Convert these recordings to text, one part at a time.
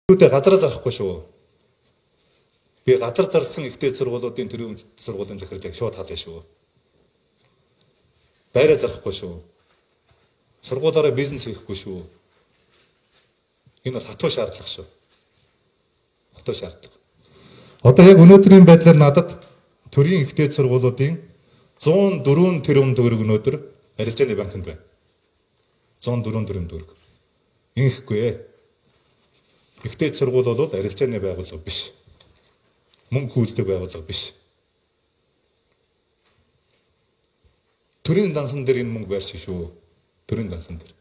Түүнтэй газараа зарахгүй шүү. Би газар зарсан ихтэй сургуулиудын төрийн сургуулийн захирлыг шууд хаална шүү. Байраа зарахгүй шүү. Сургуулаараа бизнес хийхгүй шүү. Энэ бол хатуу шаардлага шүү. Хатуу шаардлага. Одоо яг өнөөдрийн байдлаар надад төрийн ихтэй сургуулиудын 104 тэрбум төгрөг өнөөдөр арилжааны банкнд байна. 104 тэрбум төгрөг. Инхгүй ээ. Ихтэй сургууль бол арилжааны байгууллага биш. Мөнгө хүүлдэг байгууллага биш. Төрийн дансан дээр энэ мөнгө байрч шүү. Төрийн дансан дээр.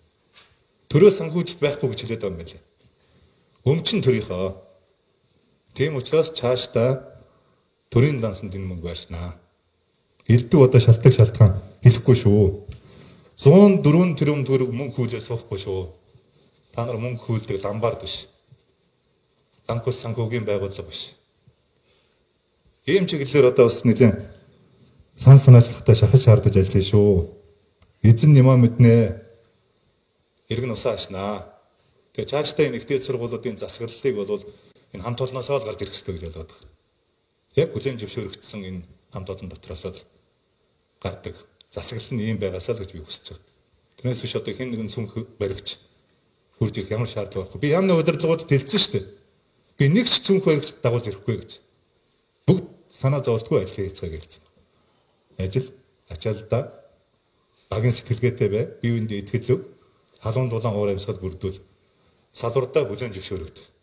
Төрөө санхүүжилт байхгүй гэж хэлээд байгаа юм байна. Өмчн төрийнхөө. Тийм учраас цаашдаа төрийн дансанд энэ мөнгө байршнаа. Элдв одоо шалтгаан хэлэхгүй шүү. 104 тэрбум төгрөг мөнгө хүүлээ суухгүй шүү. Та нар мөнгө хүүлдэг ламбард биш. Данхус санхүүгийн байгууллага биш. Ийм чиглэлээр одоо бас нэгэн сан санаачлагтай шахаж шаардаж ажиллая шүү. Эзэн нямаа мэднэ. Иргэн усаа ашнаа. Тэгээ цаашдаа энэ ихтэй сургуулиудын засаглалыг бол энэ хамт олноосоо л гарч ирэх хэрэгтэй гэж бодоод байна. Яг хүлээн зөвшөөрөгдсөн энэ хамт олон дотроос л гардаг. Засаглал нь ийм байгаасаа л гэж би хүсэж байгаа. Тэрнээс биш одоо хэн нэгэн сүнх баригч хурж ирэх ямар шаардлага байхгүй. Би ямар нэг удирдлагуудад хэлсэн шүү дээ. Би нэг ч сүнх баригч дагуулж ирэхгүй гэж. Бүгд санаа зовлтгүй ажил хийцгаая гэлцэн. Ажил ачаалдаа багийн сэтгэлгээтэй бай, бие биендээ итгэлөв, халуун дулаан уур амьсгал бүрдүүл, салвардаа бүлээн зөвшөөрөгдөв.